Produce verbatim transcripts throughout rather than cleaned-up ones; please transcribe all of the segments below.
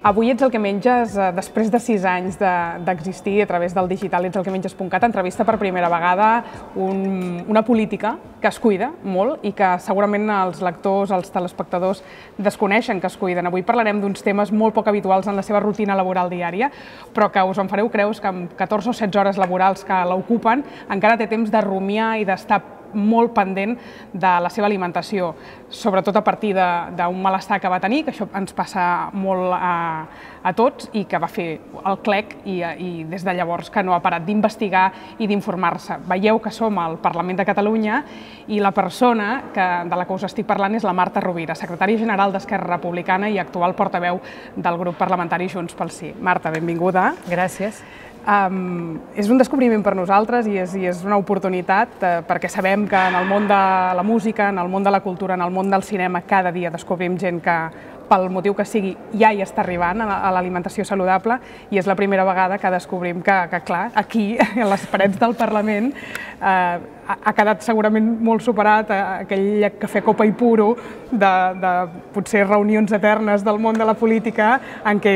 Avui ets el que menges, eh, després de sis anys d'existir de, a través del digital, ets el que menges punt cat, entrevista per primera vegada un, una política que es cuida molt i que segurament els lectors, els telespectadors desconeixen que es cuiden. Avui parlarem d'uns temes molt poc habituals en la seva rutina laboral diària, però que us en fareu creus que amb catorze o setze hores laborals que l'ocupen encara té temps de rumiar i d'estar molt pendent de la seva alimentació, sobretot a partir d'un malestar que va tenir, que això ens passa molt a, a tots i que va fer el clec i, i des de llavors que no ha parat d'investigar i d'informar-se. Veieu que som al Parlament de Catalunya i la persona que, de la que us estic parlant és la Marta Rovira, secretària general d'Esquerra Republicana i actual portaveu del grup parlamentari Junts pel Sí. Marta, benvinguda. Gràcies. Um, és un descobriment per nosaltres i és, i és una oportunitat eh, perquè sabem que en el món de la música, en el món de la cultura, en el món del cinema, cada dia descobrim gent que, pel motiu que sigui, ja hi està arribant a l'alimentació saludable i és la primera vegada que descobrim que, que clar, aquí, a les parets del Parlament, eh, ha quedat segurament molt superat aquell cafè copa i puro de, de potser reunions eternes del món de la política en què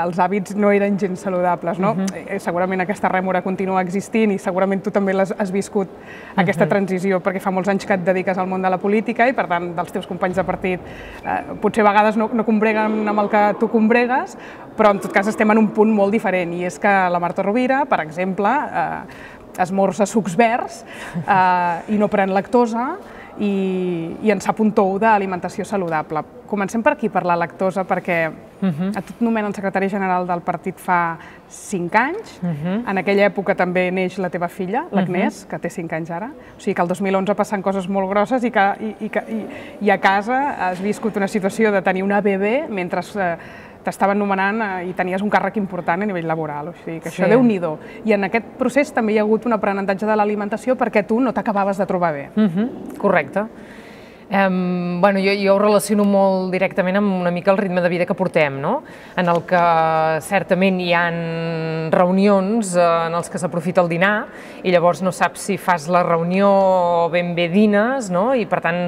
els hàbits no eren gens saludables, no? Uh-huh. Segurament aquesta rèmora continua existint i segurament tu també l'has has viscut, aquesta uh-huh. transició, perquè fa molts anys que et dediques al món de la política i per tant dels teus companys de partit eh, potser a vegades no, no combreguen amb el que tu combregues, però en tot cas estem en un punt molt diferent i és que la Marta Rovira, per exemple, eh, esmorza sucs verds eh, i no pren lactosa i, i en sap un tou d'alimentació saludable. Comencem per aquí, per la lactosa, perquè uh-huh. a tu et nomenen secretari general del partit fa cinc anys. Uh-huh. En aquella època també neix la teva filla, l'Agnès, uh-huh. que té cinc anys ara. O sigui que el dos mil onze passen coses molt grosses i que i, i, i, i a casa has viscut una situació de tenir una bebè mentre eh, t'estaven nomenant i tenies un càrrec important a nivell laboral, o sigui que això sí. Déu-n'hi-do. I en aquest procés també hi ha hagut un aprenentatge de l'alimentació perquè tu no t'acabaves de trobar bé. Uh-huh. Correcte. Um, bueno, jo, jo ho relaciono molt directament amb una mica el ritme de vida que portem, no? En el que certament hi ha reunions en els que s'aprofita el dinar i llavors no saps si fas la reunió o ben bé dines, no? I per tant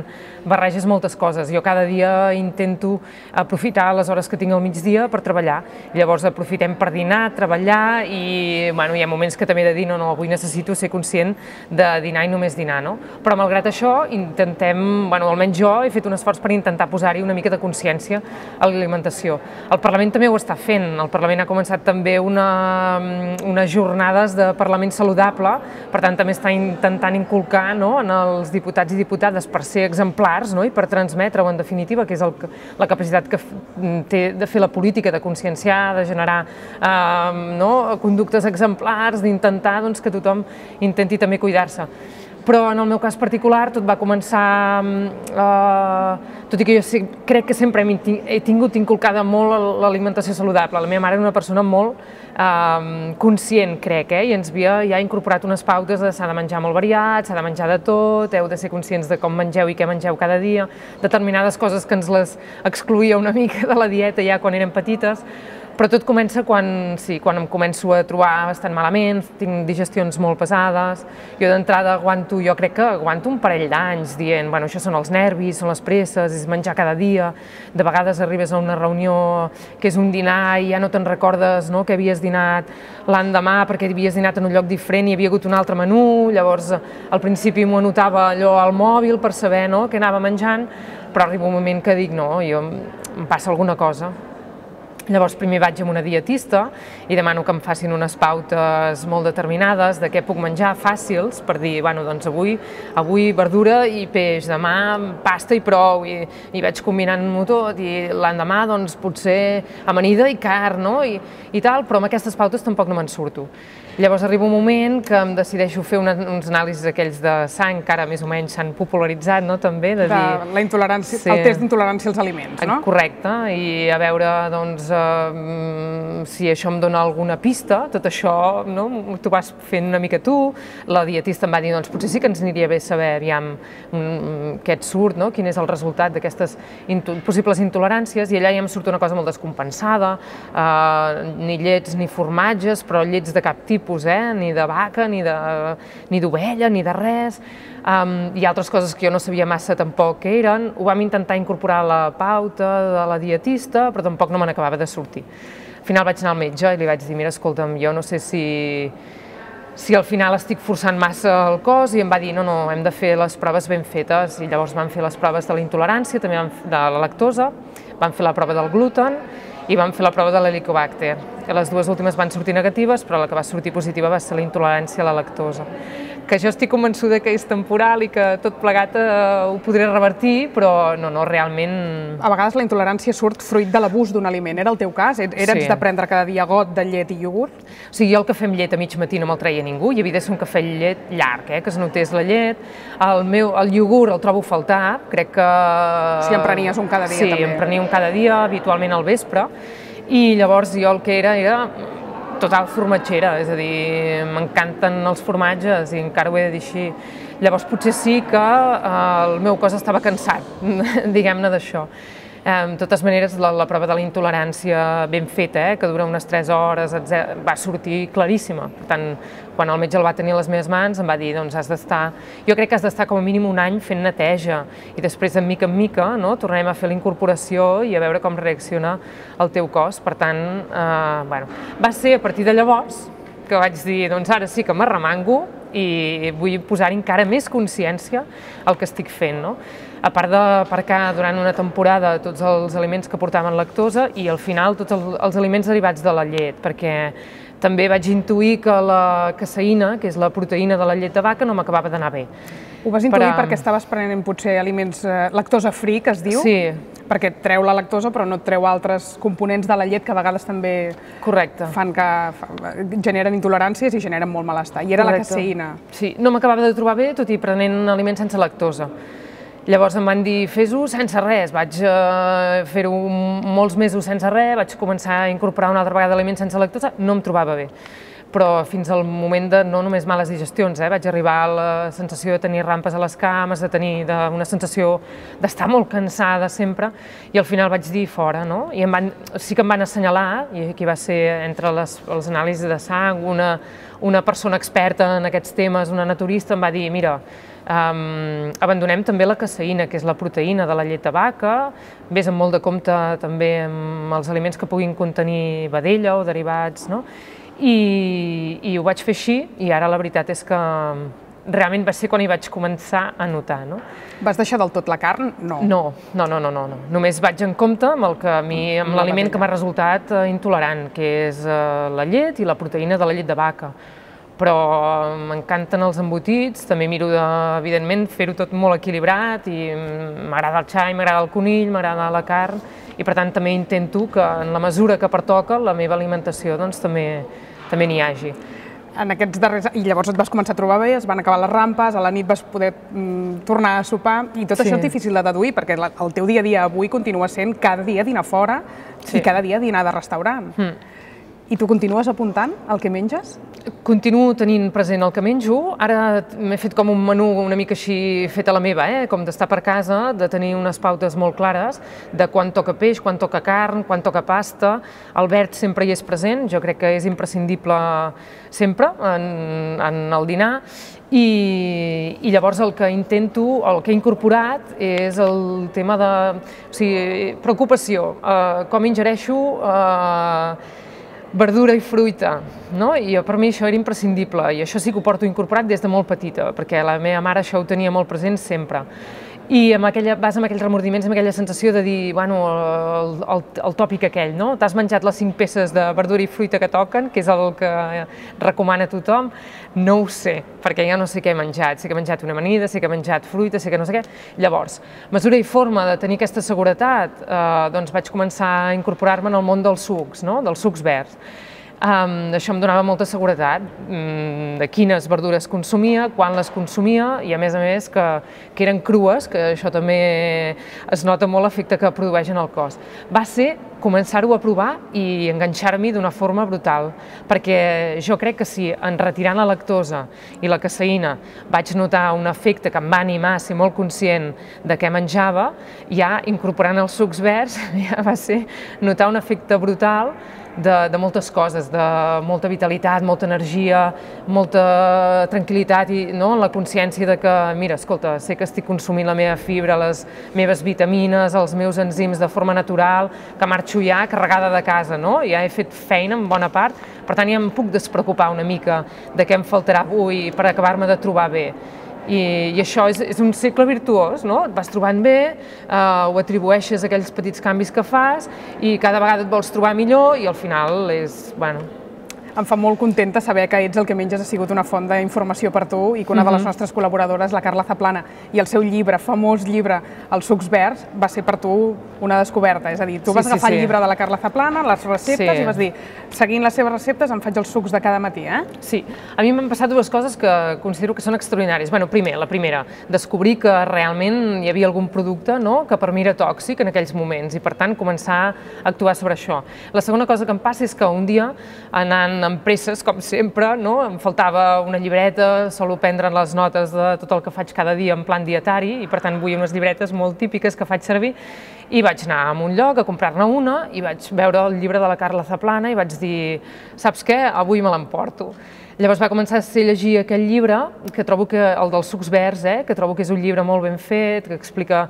barreges moltes coses. Jo cada dia intento aprofitar les hores que tinc al migdia per treballar. Llavors aprofitem per dinar, treballar i bueno, hi ha moments que també de dir no, no, avui necessito ser conscient de dinar i només dinar, no? Però malgrat això intentem, bueno, almenys jo he fet un esforç per intentar posar-hi una mica de consciència a l'alimentació. El Parlament també ho està fent. El Parlament ha començat també una, unes jornades de Parlament saludable, per tant també està intentant inculcar, no, en els diputats i diputades per ser exemplars, no, i per transmetre-ho en definitiva, que és el, la capacitat que té de fer la política, de conscienciar, de generar eh, no, conductes exemplars, d'intentar doncs, que tothom intenti també cuidar-se. Però en el meu cas particular tot va començar, eh, tot i que jo crec que sempre he tingut inculcada molt l'alimentació saludable. La meva mare era una persona molt eh, conscient, crec, eh, i ens havia ja incorporat unes pautes de s'ha de menjar molt variat, s'ha de menjar de tot, heu de ser conscients de com mengeu i què mengeu cada dia, determinades coses que ens les excloïa una mica de la dieta ja quan érem petites. Però tot comença quan, sí, quan em començo a trobar bastant malament, tinc digestions molt pesades, jo d'entrada aguanto, jo crec que aguanto un parell d'anys dient, bueno, això són els nervis, són les presses, és menjar cada dia, de vegades arribes a una reunió que és un dinar i ja no te'n recordes, no, que havies dinat l'endemà perquè havies dinat en un lloc diferent i hi havia hagut un altre menú, llavors al principi m'ho anotava allò al mòbil per saber, no, què anava menjant, però arriba un moment que dic, no, jo, em passa alguna cosa. Llavors primer vaig amb una dietista i demano que em facin unes pautes molt determinades de què puc menjar fàcils per dir, bueno, doncs avui, avui verdura i peix, demà pasta i prou, i, i vaig combinant-m'ho tot, i l'endemà doncs potser amanida i carn, no? I, i tal, però amb aquestes pautes tampoc no me'n surto. Llavors arriba un moment que em decideixo fer una, uns anàlisis aquells de sang, que ara més o menys s'han popularitzat, no?, també, de dir... De la intolerància, sí, el test d'intolerància als aliments, no? Correcte, i a veure, doncs, eh, si això em dona alguna pista, tot això, no?, t'ho vas fent una mica tu, la dietista em va dir, doncs potser sí que ens aniria bé saber, aviam, què et surt, no?, quin és el resultat d'aquestes possibles intoleràncies, i allà ja em surt una cosa molt descompensada, eh, ni llets ni formatges, però llets de cap tipus, tipus, eh? Ni de vaca, ni d'ovella, ni de res. Um, i altres coses que jo no sabia massa tampoc què eren. Ho vam intentar incorporar a la pauta de la dietista, però tampoc no me n'acabava de sortir. Al final vaig anar al metge i li vaig dir, mira, escolta'm, jo no sé si, si al final estic forçant massa el cos, i em va dir, no, no, hem de fer les proves ben fetes, i llavors vam fer les proves de la intolerància, també de la lactosa, vam fer la prova del gluten i vam fer la prova de l'helicobacter. Les dues últimes van sortir negatives, però la que va sortir positiva va ser la intolerància a la lactosa. Que jo estic convençuda que és temporal i que tot plegat eh, ho podré revertir, però no, no, realment... A vegades la intolerància surt fruit de l'abús d'un aliment. Era el teu cas? Eres Sí. de prendre cada dia got de llet i iogurt? O sigui, jo el cafè amb llet a mig matí no me'l treia ningú, i havia de ser un cafè amb llet llarg, eh, que es notés la llet. El meu, el iogurt el trobo a faltar, crec que... Sí, en prenies un cada dia, sí, també. Sí, en prenia un cada dia, habitualment al vespre, i llavors jo el que era era total formatgera, és a dir, m'encanten els formatges i encara ho he de dir així. Llavors potser sí que eh, el meu cos estava cansat, diguem-ne d'això. Eh, de totes maneres, la, la prova de la intolerància ben feta, eh, que dura unes tres hores, etcètera, va sortir claríssima. Per tant, quan el metge el va tenir a les meves mans, em va dir, doncs has d'estar... Jo crec que has d'estar com a mínim un any fent neteja, i després, de mica en mica, no, tornarem a fer la incorporació i a veure com reacciona el teu cos. Per tant, eh, bueno, va ser a partir de llavors que vaig dir, doncs ara sí que m'arremango i vull posar encara més consciència al que estic fent, no? A part d'aparcar durant una temporada tots els aliments que portaven lactosa i al final tots els, els aliments derivats de la llet, perquè també vaig intuir que la caseïna, que és la proteïna de la llet de vaca, no m'acabava d'anar bé. Ho vas intuir Però- perquè estaves prenent potser aliments eh, lactosa free, que es diu? Sí. Perquè et treu la lactosa però no et treu altres components de la llet que a vegades també Correcte. fan que fa, generen intoleràncies i generen molt malestar. I era Correcte. la caseïna. Sí, no m'acabava de trobar bé, tot i prenent aliments sense lactosa. Llavors em van dir, fes-ho sense res. Vaig eh, fer-ho molts mesos sense res, vaig començar a incorporar una altra vegada aliments sense lactosa, no em trobava bé. Però fins al moment de no només males digestions, eh, vaig arribar a la sensació de tenir rampes a les cames, de tenir de, una sensació d'estar molt cansada sempre, i al final vaig dir fora, no? I em van, sí que em van assenyalar, i aquí va ser entre les, les anàlisis de sang, una, una persona experta en aquests temes, una naturista, em va dir, mira, Um, abandonem també la caseïna, que és la proteïna de la llet de vaca, vés amb molt de compte també amb els aliments que puguin contenir vedella o derivats, no? I, i ho vaig fer així, i ara la veritat és que realment va ser quan hi vaig començar a notar, no? Vas deixar del tot la carn? No. No, no, no, no, no, no. Només vaig en compte amb el que a mi, amb l'aliment que m'ha resultat eh, intolerant, que és eh, la llet i la proteïna de la llet de vaca. Però m'encanten els embotits, també miro, de, evidentment, fer-ho tot molt equilibrat, i m'agrada el xai, m'agrada el conill, m'agrada la carn, i per tant també intento que en la mesura que pertoca la meva alimentació doncs també també n'hi hagi. En aquests darrers... I llavors et vas començar a trobar bé, es van acabar les rampes, a la nit vas poder mm, tornar a sopar, i tot Sí. això és difícil de deduir, perquè la, el teu dia a dia avui continua sent cada dia dinar fora Sí. i cada dia dinar de restaurant. Mm. I tu continues apuntant el que menges? Continuo tenint present el que menjo. Ara m'he fet com un menú una mica així fet a la meva, eh? Com d'estar per casa, de tenir unes pautes molt clares de quan toca peix, quan toca carn, quan toca pasta. El verd sempre hi és present, jo crec que és imprescindible sempre en, en el dinar. I, i llavors el que intento, el que he incorporat és el tema de, o sigui, preocupació, eh, com ingereixo eh, verdura i fruita, no? I per mi això era imprescindible, i això sí que ho porto incorporat des de molt petita, perquè la meva mare això ho tenia molt present sempre. I amb aquella, vas amb aquells remordiments, amb aquella sensació de dir, bueno, el, el, el tòpic aquell, no? T'has menjat les cinc peces de verdura i fruita que toquen, que és el que recomana tothom? No ho sé, perquè ja no sé què he menjat. Sé que he menjat una amanida, sé que he menjat fruita, sé que no sé què. Llavors, mesura i forma de tenir aquesta seguretat, eh, doncs vaig començar a incorporar-me en el món dels sucs, no? Dels sucs verds. Um, això em donava molta seguretat um, de quines verdures consumia, quan les consumia, i a més a més que, que eren crues, que això també es nota molt l'efecte que produeix en el cos. Va ser començar-ho a provar i enganxar-m'hi d'una forma brutal, perquè jo crec que si en retirant la lactosa i la caseïna vaig notar un efecte que em va animar a ser molt conscient de què menjava, ja incorporant els sucs verds ja va ser notar un efecte brutal de, de moltes coses, de molta vitalitat, molta energia, molta tranquil·litat i no? La consciència de que, mira, escolta, sé que estic consumint la meva fibra, les meves vitamines, els meus enzims de forma natural, que marxo ja carregada de casa, no? Ja he fet feina en bona part, per tant ja em puc despreocupar una mica de què em faltarà avui per acabar-me de trobar bé. I, i això és, és un cicle virtuós, no? Et vas trobant bé, eh, ho atribueixes a aquells petits canvis que fas i cada vegada et vols trobar millor i al final és, bueno... Em fa molt contenta saber que Ets el que menges ha sigut una font d'informació per tu i que una de les nostres col·laboradores, la Carla Zaplana, i el seu llibre, famós llibre, Els sucs verds, va ser per tu una descoberta. És a dir, tu vas agafar el llibre de la Carla Zaplana, les receptes, i vas dir, seguint les seves receptes em faig els sucs de cada matí, eh? Sí, a mi m'han passat dues coses que considero que són extraordinàries. Bueno, primer, la primera, descobrir que realment hi havia algun producte que per mi era tòxic en aquells moments i, per tant, començar a actuar sobre això. La segona cosa que em passa és que un dia, anant amb presses, com sempre, no? Em faltava una llibreta, solo prendre les notes de tot el que faig cada dia en plan dietari i per tant vull unes llibretes molt típiques que faig servir i vaig anar a un lloc a comprar-ne una i vaig veure el llibre de la Carla Zaplana i vaig dir, saps què? Avui me l'emporto. Llavors va començar a ser llegir aquell llibre, que trobo que el dels sucs verds, eh, que trobo que és un llibre molt ben fet, que explica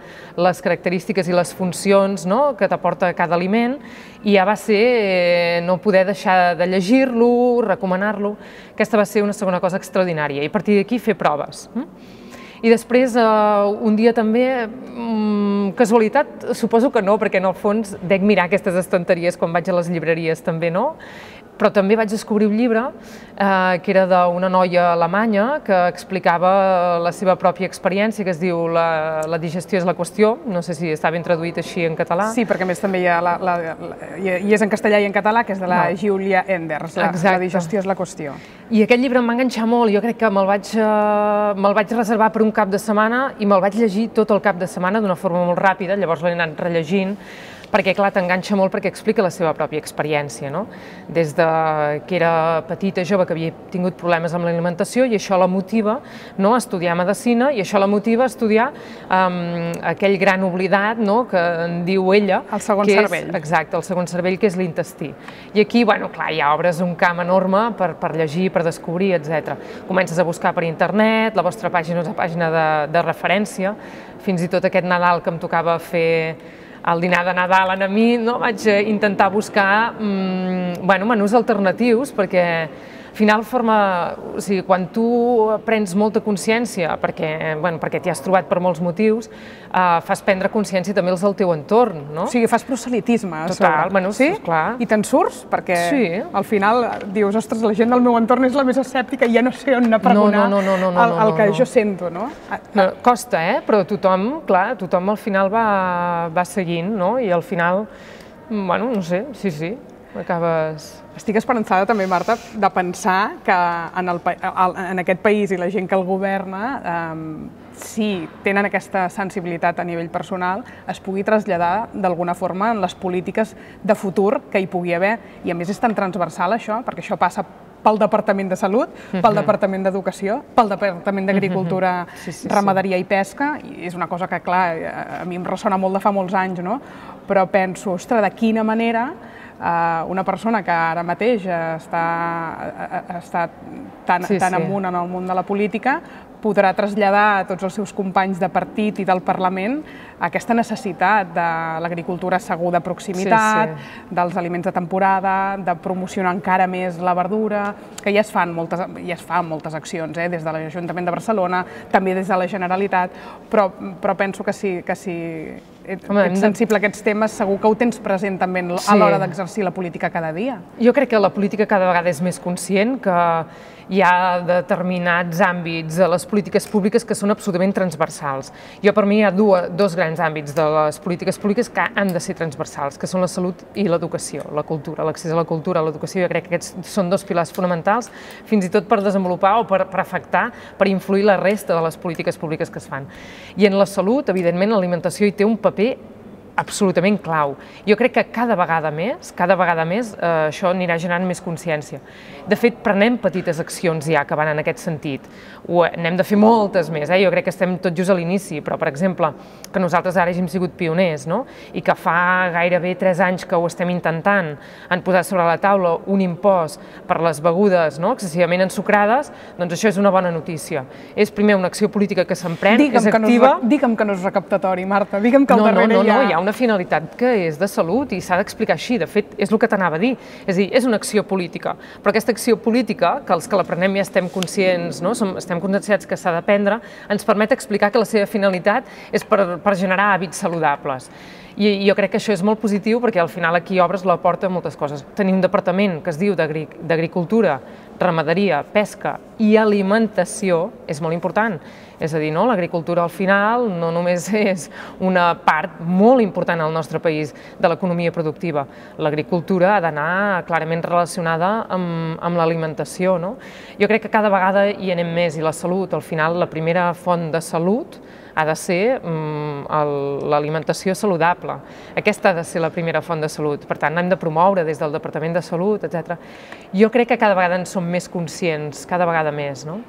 les característiques i les funcions no? Que t'aporta cada aliment, i ja va ser eh, no poder deixar de llegir-lo, recomanar-lo. Aquesta va ser una segona cosa extraordinària, i a partir d'aquí fer proves. I després, eh, un dia també, mm, casualitat, suposo que no, perquè en el fons dec mirar aquestes estanteries quan vaig a les llibreries també, no? Però també vaig descobrir un llibre eh, que era d'una noia alemanya que explicava la seva pròpia experiència, que es diu La, la digestió és la qüestió, no sé si està ben traduït així en català. Sí, perquè a més també hi, ha la, la, la, hi és en castellà i en català, que és de la no. Julia Enders, la, la digestió és la qüestió. I aquest llibre em va enganxar molt, jo crec que me'l vaig, eh, me'l vaig reservar per un cap de setmana i me'l vaig llegir tot el cap de setmana d'una forma molt ràpida, llavors l'he anat rellegint, perquè, clar, t'enganxa molt perquè explica la seva pròpia experiència, no? Des de que era petita, jove, que havia tingut problemes amb l'alimentació i això la motiva no? A estudiar medicina i això la motiva a estudiar um, aquell gran oblidat no? Que en diu ella. El segon que cervell. És, exacte, el segon cervell, que és l'intestí. I aquí, bueno, clar, ja obres un camp enorme per, per llegir, per descobrir, etcètera. Comences a buscar per internet, la vostra pàgina és una pàgina de, de referència, fins i tot aquest Nadal que em tocava fer al dinar de Nadal a mi, no? Vaig intentar buscar mmm, bueno, menús alternatius, perquè al final forma, o sigui, quan tu prens molta consciència, perquè, bueno, perquè t'hi has trobat per molts motius, eh, fas prendre consciència també els del teu entorn, no? O sigui, fas proselitisme. Total, bueno, sí, clar. I te'n surts? Perquè sí. Al final dius, ostres, la gent del meu entorn és la més escèptica i ja no sé on anar a pregonar no, no, no, no, el, el que jo sento, no? no? Costa, eh? Però tothom, clar, tothom al final va, va seguint, no? I al final, bueno, no sé, sí, sí, acabes... Estic esperançada també, Marta, de pensar que en, el, en aquest país i la gent que el governa, eh, si tenen aquesta sensibilitat a nivell personal, es pugui traslladar d'alguna forma en les polítiques de futur que hi pugui haver. I a més és tan transversal això, perquè això passa pel Departament de Salut, pel Departament d'Educació, pel Departament d'Agricultura, sí, sí, sí. Ramaderia i Pesca, i és una cosa que, clar, a mi em ressona molt de fa molts anys, no? Però penso, ostres, de quina manera una persona que ara mateix està, està tan, sí, tan sí. amunt en el món de la política podrà traslladar a tots els seus companys de partit i del Parlament aquesta necessitat de l'agricultura segur de proximitat, sí, sí. dels aliments de temporada, de promocionar encara més la verdura, que ja es fan moltes, ja es fan moltes accions, eh, des de l'Ajuntament de Barcelona, també des de la Generalitat, però, però penso que si, que si ets, Home, ets sensible a aquests temes, segur que ho tens present també a sí. l'hora d'exercir la política cada dia. Jo crec que la política cada vegada és més conscient que hi ha determinats àmbits de les polítiques públiques que són absolutament transversals. Jo, per mi, hi ha dues, dos grans àmbits de les polítiques públiques que han de ser transversals, que són la salut i l'educació, la cultura, l'accés a la cultura, a l'educació. Jo crec que aquests són dos pilars fonamentals, fins i tot per desenvolupar o per, per afectar, per influir la resta de les polítiques públiques que es fan. I en la salut, evidentment, l'alimentació hi té un paper absolutament clau. Jo crec que cada vegada més, cada vegada més, eh, això anirà generant més consciència. De fet, prenem petites accions ja que van en aquest sentit. Ho, n'hem de fer moltes més, eh? Jo crec que estem tot just a l'inici, però, per exemple, que nosaltres ara hàgim sigut pioners, no? I que fa gairebé tres anys que ho estem intentant, han posat sobre la taula un impost per les begudes, no?, excessivament ensucrades, doncs això és una bona notícia. És primer una acció política que s'emprèn, que és activa... Digue'm que no és recaptatori, Marta, digue'm que al darrere hi ha... No, no, hi ha una finalitat que és de salut i s'ha d'explicar així. De fet, és el que t'anava a dir. És a dir, és una acció política, però aquesta acció política, que els que la prenem ja estem conscients, no? Som, estem conscienciats que s'ha de prendre, ens permet explicar que la seva finalitat és per, per generar hàbits saludables. I jo crec que això és molt positiu perquè al final aquí obres la porta a moltes coses. Tenim un departament que es diu d'Agricultura, Ramaderia, Pesca i Alimentació, és molt important. És a dir, no? L'agricultura al final no només és una part molt important al nostre país de l'economia productiva. L'agricultura ha d'anar clarament relacionada amb, amb l'alimentació, no? Jo crec que cada vegada hi anem més i la salut, al final, la primera font de salut ha de ser mm, l'alimentació saludable. Aquesta ha de ser la primera font de salut. Per tant, hem de promoure des del Departament de Salut, etcètera. Jo crec que cada vegada en som més conscients, cada vegada més, no?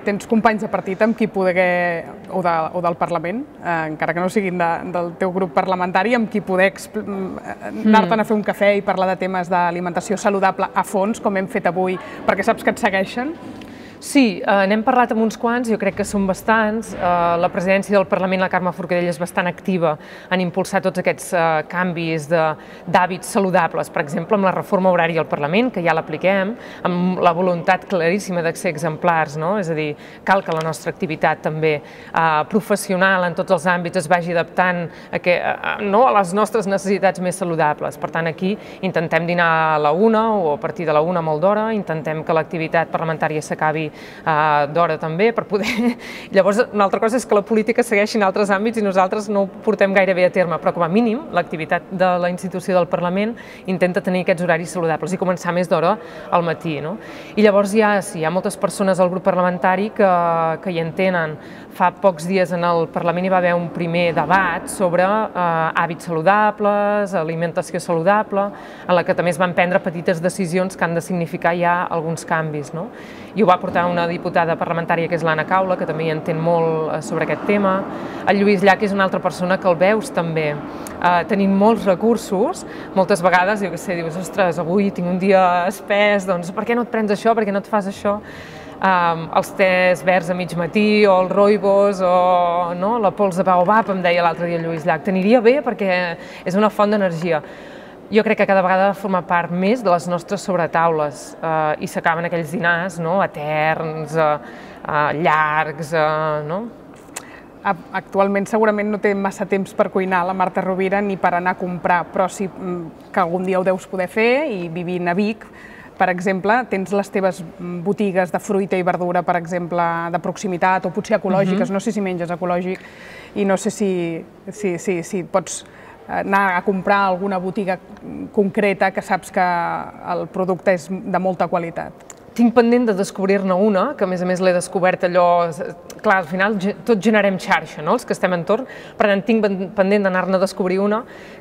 Tens companys de partit amb qui poder, o, de, o del Parlament, eh, encara que no siguin de, del teu grup parlamentari, amb qui poder anar-te'n a fer un cafè i parlar de temes d'alimentació saludable a fons, com hem fet avui, perquè saps que et segueixen? Sí, eh, n'hem parlat amb uns quants, jo crec que són bastants. Eh, la presidència del Parlament, la Carme Forcadell, és bastant activa en impulsar tots aquests eh, canvis d'hàbits saludables, per exemple, amb la reforma horària al Parlament, que ja l'apliquem, amb la voluntat claríssima de ser exemplars, no? És a dir, cal que la nostra activitat també eh, professional en tots els àmbits es vagi adaptant a, que, a, no, a les nostres necessitats més saludables. Per tant, aquí intentem dinar a la una o a partir de la una molt d'hora, intentem que l'activitat parlamentària s'acabi d'hora també, per poder... Llavors, una altra cosa és que la política segueixi en altres àmbits i nosaltres no ho portem gaire bé a terme, però com a mínim l'activitat de la institució del Parlament intenta tenir aquests horaris saludables i començar més d'hora al matí, no? I llavors hi ha, sí, hi ha moltes persones al grup parlamentari que, que hi entenen. Fa pocs dies en el Parlament hi va haver un primer debat sobre eh, hàbits saludables, alimentació saludable, en la que també es van prendre petites decisions que han de significar ja alguns canvis, no? I ho va portar una diputada parlamentària que és l'Anna Caula, que també hi entén molt sobre aquest tema. El Lluís Llach és una altra persona que el veus també eh, tenint molts recursos, moltes vegades, jo què sé, dius, ostres, avui tinc un dia espès, doncs per què no et prens això, per què no et fas això? Um, els tés verds a mig matí, o els rooibos, o no, la pols de baobab, em deia l'altre dia el Lluís Llach. T'aniria bé perquè és una font d'energia. Jo crec que cada vegada forma part més de les nostres sobretaules eh, i s'acaben aquells dinars, no?, eterns, eh, eh, llargs, eh, no? Actualment segurament no té massa temps per cuinar la Marta Rovira ni per anar a comprar, però sí que algun dia ho deus poder fer i vivint a Vic, per exemple, tens les teves botigues de fruita i verdura, per exemple, de proximitat o potser ecològiques, no sé si menges ecològic i no sé si, si, si, si pots anar a comprar a alguna botiga concreta que saps que el producte és de molta qualitat. Tinc pendent de descobrir-ne una, que a més a més l'he descobert allò... Clar, al final tots generem xarxa, no?, els que estem entorn, per tant tinc pendent d'anar-ne a descobrir una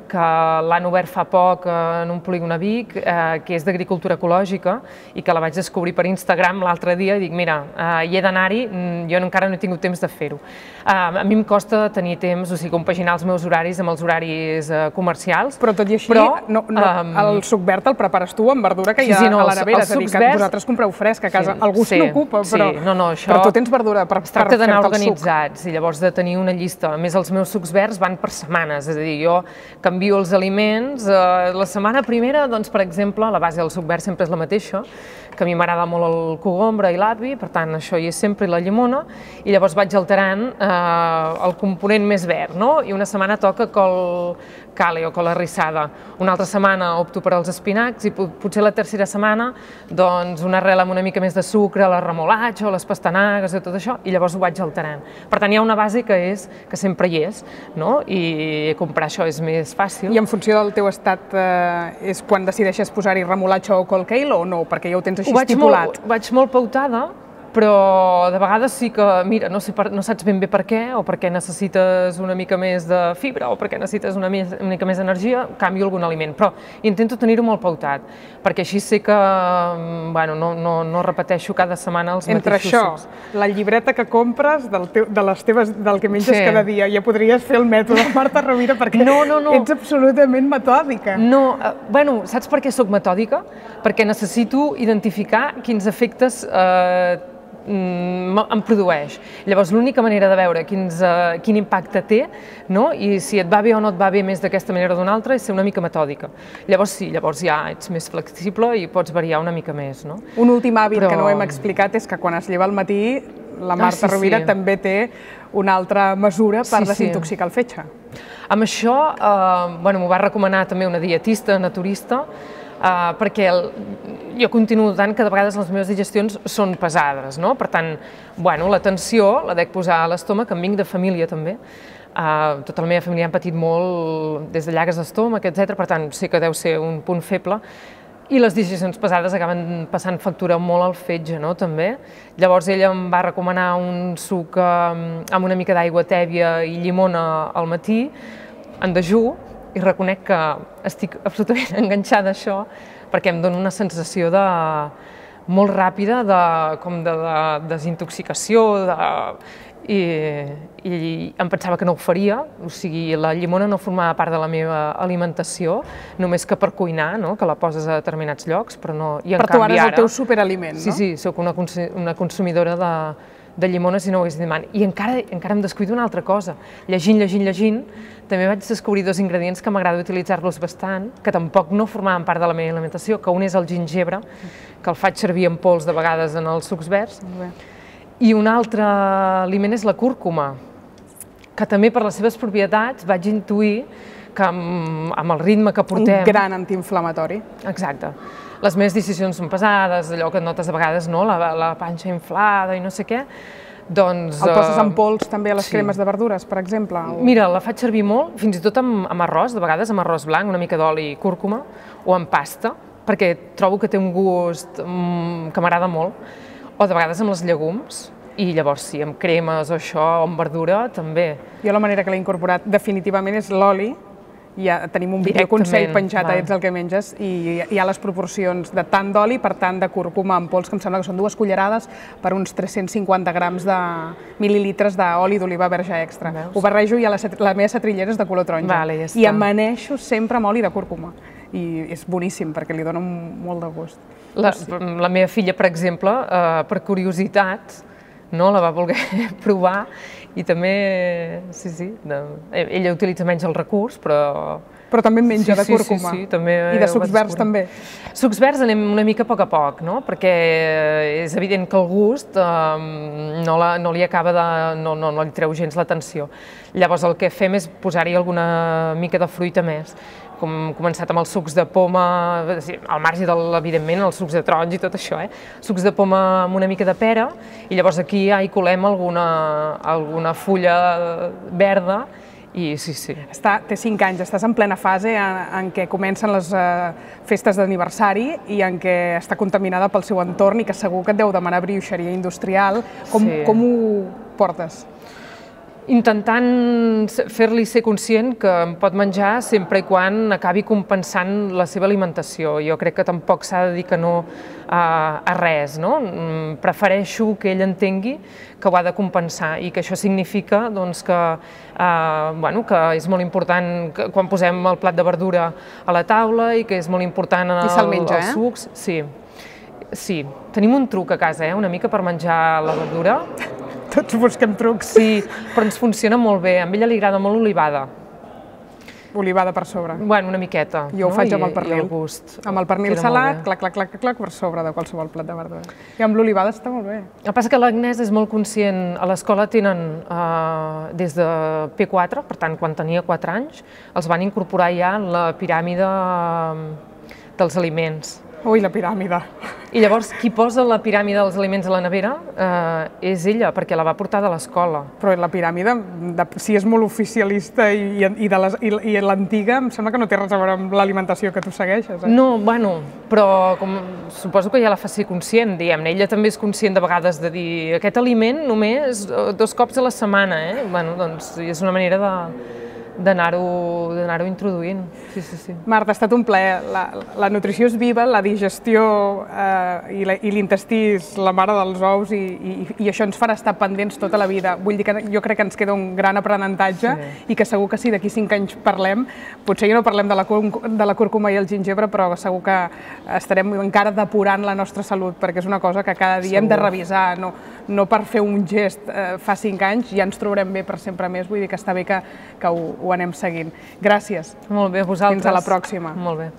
que l'han obert fa poc en un polígon a Vic, eh, que és d'agricultura ecològica i que la vaig descobrir per Instagram l'altre dia i dic, mira, eh, hi he d'anar-hi, jo encara no he tingut temps de fer-ho. Eh, a mi em costa tenir temps, o sigui, compaginar els meus horaris amb els horaris eh, comercials. Però tot i així, però, no, no, um, el suc verd el prepares tu amb verdura que hi ha sí, sí, no, a la nevera, és a dir, que verds, vosaltres compreu fresc a casa, sí, algú se sí, n'ocupa, però, sí, no, no, això, però tu tens verdura per, per fer-te el suc. Es tracta d'anar organitzats i llavors de tenir una llista. A més, els meus sucs verds van per setmanes, és a dir, jo canvio els aliments. Eh, la setmana primera, doncs, per exemple, la base del suc verd sempre és la mateixa, que a mi m'agrada molt el cogombre i l'api, per tant, això hi és sempre, i la llimona, i llavors vaig alterant eh, el component més verd, no? I una setmana toca col cale o col arrissada, una altra setmana opto per als espinacs i potser la tercera setmana doncs una arrel amb una mica més de sucre, la remolatxa o les pastanagues i tot això, i llavors ho vaig alterant. Per tant, hi ha una base que és que sempre hi és, no? I comprar això és més fàcil. I en funció del teu estat eh, és quan decideixes posar-hi remolatxa o col kale o no? Perquè ja ho tens així ho vaig estipulat. Molt, vaig molt pautada, però de vegades sí que, mira, no, sé per, no saps ben bé per què, o perquè necessites una mica més de fibra, o perquè necessites una, més, una mica més d'energia, canvio algun aliment, però intento tenir-ho molt pautat, perquè així sé que bueno, no, no, no repeteixo cada setmana els Entre mateixos això, sucs. la llibreta que compres del, teu, de les teves, del que menges sí. cada dia, ja podries fer el mètode Marta Rovira perquè no, no, no. ets absolutament metòdica. No, eh, bueno, saps per què sóc metòdica? Perquè necessito identificar quins efectes eh, em produeix. Llavors, l'única manera de veure quins, uh, quin impacte té, no? I si et va bé o no et va bé més d'aquesta manera o d'una altra, és ser una mica metòdica. Llavors sí, llavors ja ets més flexible i pots variar una mica més, no? Un últim hàbit Però... que no hem explicat és que quan es lleva al matí, la Marta ah, sí, Rovira sí. també té una altra mesura per sí, desintoxicar sí. el fetge. Amb això, eh, bueno, m'ho va recomanar també una dietista naturista, Uh, perquè el, jo continuo notant que de vegades les meves digestions són pesades, no? Per tant, bueno, l'atenció la dec posar a l'estómac, em vinc de família també, uh, tota la meva família han patit molt des de llagues d'estómac, etcètera, per tant, sé que deu ser un punt feble, i les digestions pesades acaben passant factura molt al fetge, no?, també. Llavors ella em va recomanar un suc amb una mica d'aigua tèbia i llimona al matí, en dejú, i reconec que estic absolutament enganxada a això perquè em dona una sensació de molt ràpida de, com de, de desintoxicació de, i, i em pensava que no ho faria, o sigui, la llimona no formava part de la meva alimentació, només que per cuinar, no? Que la poses a determinats llocs, però no... I en per tu canvi, ara és el ara, teu superaliment, sí, no? Sí, sí, soc una, una consumidora de, de llimones si no ho hagués dit mai. I encara, encara em descuido una altra cosa. Llegint, llegint, llegint, també vaig descobrir dos ingredients que m'agrada utilitzar-los bastant, que tampoc no formaven part de la meva alimentació, que un és el gingebre, que el faig servir en pols de vegades en els sucs verds, i un altre aliment és la cúrcuma, que també per les seves propietats vaig intuir que amb, amb el ritme que portem... Un gran antiinflamatori. Exacte. Les meves decisions són pesades, allò que et notes de vegades, no? la, la panxa inflada i no sé què, doncs... El poses en pols també a les sí. cremes de verdures, per exemple? O... Mira, la faig servir molt, fins i tot amb, amb arròs, de vegades amb arròs blanc, una mica d'oli i cúrcuma, o amb pasta, perquè trobo que té un gust mm, que m'agrada molt, o de vegades amb els llegums, i llavors sí, amb cremes o això, o amb verdura, també. Jo la manera que l'he incorporat definitivament és l'oli. Ja tenim un videoconsell penjat a Ets el que menges i hi ha les proporcions de tant d'oli per tant de cúrcuma en pols, que em sembla que són dues cullerades per uns tres-cents cinquanta grams de mil·lilitres d'oli d'oliva verge extra. Ho barrejo i la, la meva setrillera és de color taronja. Vale, ja I amaneixo sempre amb oli de cúrcuma. I és boníssim perquè li dona molt de gust. La, la meva filla, per exemple, eh, per curiositat, no, la va voler provar i també, sí, sí, de, ella utilitza menys el recurs, però... Però també en menja sí, de cúrcuma. Sí, sí, sí, també I de sucs verds també. Sucs verds anem una mica a poc a poc, no? Perquè és evident que el gust eh, no, la, no li acaba de... no, no, no li treu gens l'atenció. Llavors el que fem és posar-hi alguna mica de fruita més. Com començat amb els sucs de poma, al marge, de, evidentment, els sucs de taronja i tot això, eh? Sucs de poma amb una mica de pera, i llavors aquí ja hi colem alguna, alguna fulla verda, i sí, sí. Està, té cinc anys, estàs en plena fase en, en què comencen les uh, festes d'aniversari i en què està contaminada pel seu entorn i que segur que et deu demanar brioixeria industrial. Com, sí. com ho portes? Intentant fer-li ser conscient que em pot menjar sempre i quan acabi compensant la seva alimentació. Jo crec que tampoc s'ha de dir que no a, a res, no? Prefereixo que ell entengui que ho ha de compensar i que això significa doncs, que, eh, bueno, que és molt important que, quan posem el plat de verdura a la taula i que és molt important en el, I se'l menja, els sucs. Sí. Sí, tenim un truc a casa, eh? Una mica per menjar la verdura. Tots busquem trucs. Sí, però ens funciona molt bé. A ella li agrada molt l'olivada. Olivada per sobre. Bueno, una miqueta. Jo ho no? faig amb I, el pernil. el gust. Amb el pernil salat, clac, clac, clac, clac, per sobre de qualsevol plat de verdura. I amb l'olivada està molt bé. El que passa que l'Agnès és molt conscient. A l'escola tenen eh, des de P quatre, per tant, quan tenia quatre anys, els van incorporar ja en la piràmide dels aliments. Ui, la piràmide. I llavors, qui posa la piràmide dels aliments a la nevera eh, és ella, perquè la va portar de l'escola. Però la piràmide, de, si és molt oficialista i, i, de les, i, i l'antiga, em sembla que no té res a veure amb l'alimentació que tu segueixes. Eh? No, bueno, però com, suposo que ja la fa ser conscient, diguem-ne. Ella també és conscient de vegades de dir aquest aliment només dos cops a la setmana, eh? Bueno, doncs és una manera de d'anar-ho d'anar-ho introduint. Sí, sí, sí. Marta, ha estat un plaer. La, la nutrició és viva, la digestió eh, i, la, i l'intestí és la mare dels ous i, i, i això ens farà estar pendents tota la vida. Vull dir que jo crec que ens queda un gran aprenentatge sí. i que segur que si d'aquí cinc anys parlem, potser ja no parlem de la, de la cúrcuma i el gingebre, però segur que estarem encara depurant la nostra salut, perquè és una cosa que cada dia segur. Hem de revisar, no, no per fer un gest eh, fa cinc anys, ja ens trobarem bé per sempre més, vull dir que està bé que, que ho, ho anem seguint. Gràcies. Molt bé, vosaltres. Fins a la pròxima. Molt bé.